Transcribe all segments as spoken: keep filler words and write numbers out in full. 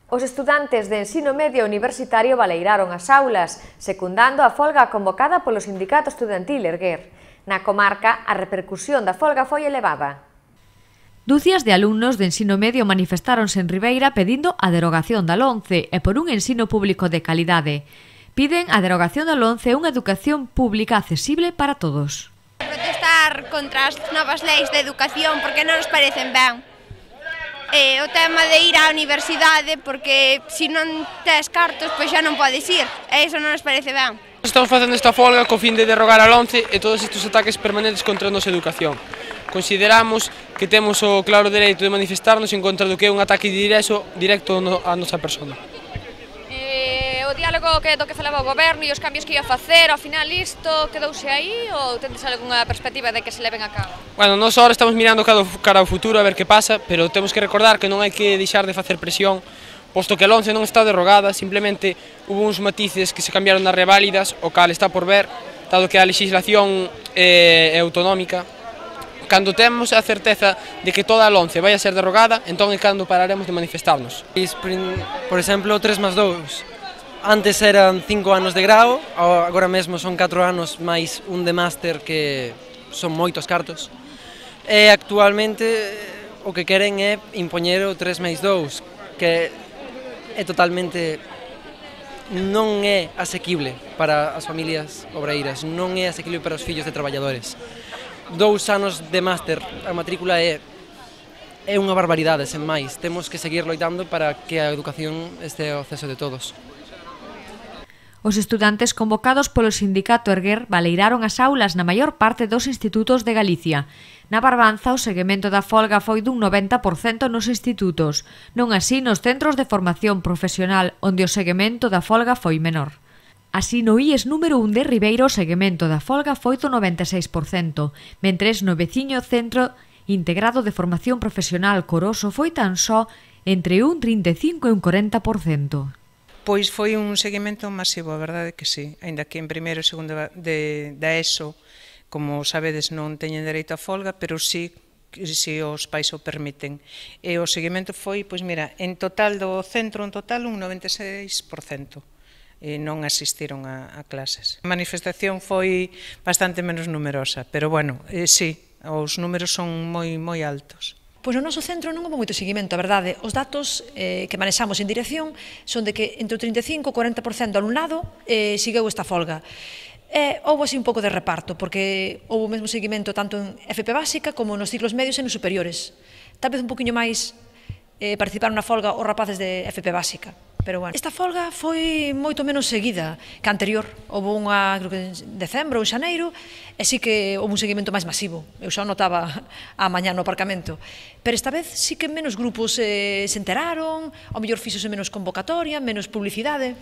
Os estudantes de ensino medio universitario baleiraron as aulas, secundando a folga convocada polo sindicato estudantil Erguer. Na comarca, a repercusión da folga foi elevada. Dúcias de alumnos de ensino medio manifestáronse en Ribeira pedindo a derogación da LOMCE e por un ensino público de calidade. Piden a derogación da LOMCE e unha educación pública accesible para todos. Protestar contra as novas leis de educación porque non nos parecen ben. E o tema de ir á universidade porque se non tes cartos pois xa non podes ir e iso non nos parece ben. Estamos facendo esta folga co fin de derrogar a LOMCE e todos estes ataques permanentes contra a nosa educación. Consideramos que temos o claro dereito de manifestarnos en contra do que é un ataque directo, directo á nosa persona. O diálogo que do que falaba o goberno e os cambios que ia facer, ao final isto quedouse aí ou tendes algunha perspectiva de que se leven a cabo? Bueno, nós agora estamos mirando cara ao futuro a ver que pasa, pero temos que recordar que non hai que deixar de facer presión, posto que a LOMCE non está derrogada, simplemente hubo uns matices que se cambiaron nas reválidas, o cal está por ver, dado que a legislación é autonómica. Cando temos a certeza de que toda a LOMCE vai a ser derrogada, entón é cando pararemos de manifestarnos. Por exemplo, tres más dous. Antes eran cinco anos de grao, agora mesmo son catro anos máis un de máster que son moitos cartos. E actualmente o que queren é impoñer o tres máis dous, que é totalmente non é asequible para as familias obreiras, non é asequible para os fillos de traballadores. Dous anos de máster, a matrícula é é unha barbaridade, sen máis. Temos que seguir loitando para que a educación este ao acceso de todos. Os estudantes convocados polo sindicato Erguer baleiraron as aulas na maior parte dos institutos de Galicia. Na Barbanza, o seguimento da folga foi dun noventa por cento nos institutos, non así nos centros de formación profesional, onde o seguimento da folga foi menor. Así, no I E S número un de Ribeira, o seguimento da folga foi do noventa e seis por cento, mentres no veciño Centro Integrado de Formación Profesional Coroso foi tan só entre un trinta e cinco e un corenta por cento. Pois foi un seguimento masivo, a verdade que sí, aínda que en primeiro e segundo de, da ESO, como sabedes, non teñen dereito a folga, pero sí, si os pais o permiten. E o seguimento foi, pois mira, en total do centro, en total, un noventa e seis por cento. E non asistiron a, a clases. A manifestación foi bastante menos numerosa, pero bueno, eh, sí, os números son moi, moi altos. Pois no noso centro non houve moito seguimento, a verdade. Os datos eh, que manexamos en dirección son de que entre o trinta e cinco e o corenta por cento do alumnado eh, segueu esta folga. E houve así un pouco de reparto, porque houve o mesmo seguimento tanto en F P básica como nos ciclos medios e nos superiores. Tal vez un poquinho máis eh, participaron na folga os rapaces de F P básica. Pero bueno, esta folga foi moito menos seguida que a anterior. Houve unha, creo que en decembro ou en xaneiro, e sí que houve un seguimento máis masivo. Eu xa notaba a mañá no aparcamento. Pero esta vez sí que menos grupos eh, se enteraron, ao mellor fíxose menos convocatoria, menos publicidade.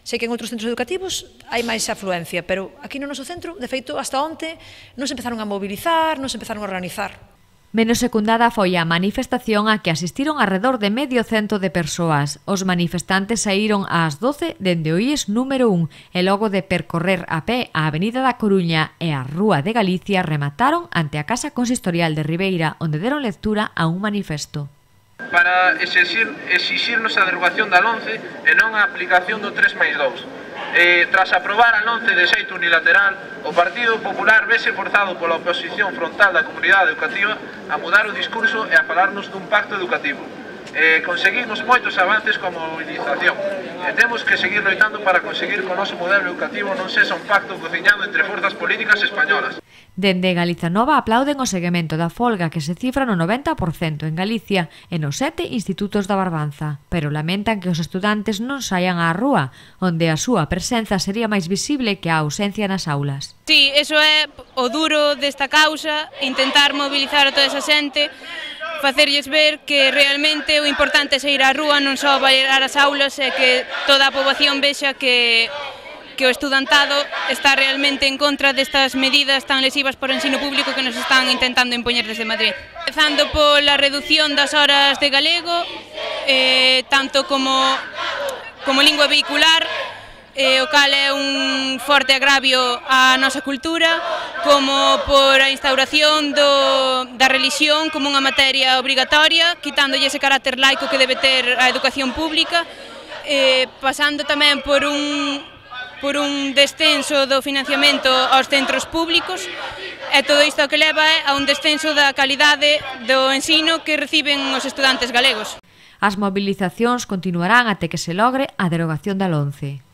Sei que en outros centros educativos hai máis afluencia, pero aquí no noso centro, de feito, hasta onte, non se empezaron a mobilizar, non se empezaron a organizar. Menos secundada foi a manifestación a que asistiron alrededor de medio cento de persoas. Os manifestantes saíron ás doce dende o I E S número un e logo de percorrer a pé a Avenida da Coruña e a Rúa de Galicia remataron ante a Casa Consistorial de Ribeira, onde deron lectura a un manifesto. Para exixir, exixirnos a derogación da LOMCE e non a aplicación do tres máis dous. Eh, tras aprobar a LOMCE de xeito unilateral, o Partido Popular vese forzado pola oposición frontal da comunidade educativa a mudar o discurso e a falarnos dun pacto educativo. Eh, conseguimos moitos avances como mobilización e temos que seguir loitando para conseguir que o noso modelo educativo non sexa un pacto cociñado entre forzas políticas españolas. Dende Galiza Nova aplauden o seguimento da folga que se cifra no noventa por cento en Galicia e nos sete institutos da Barbanza, pero lamentan que os estudantes non saian á rúa, onde a súa presenza sería máis visible que a ausencia nas aulas. Sí, eso é o duro desta causa, intentar mobilizar a toda esa xente, facerlles ver que realmente o importante é sair á rúa, non só bailar as aulas, e que toda a poboación vexa que que o estudantado está realmente en contra destas medidas tan lesivas por ensino público que nos están intentando impoñer desde Madrid. Empezando pola reducción das horas de galego, eh, tanto como, como lingua vehicular, o cal é un forte agravio á nosa cultura, como por a instauración do, da religión como unha materia obrigatoria, quitándolle ese carácter laico que debe ter a educación pública, eh, pasando tamén por un, por un descenso do financiamento aos centros públicos, e todo isto que leva a un descenso da calidade do ensino que reciben os estudantes galegos. As mobilizacións continuarán até que se logre a derogación da LOMCE.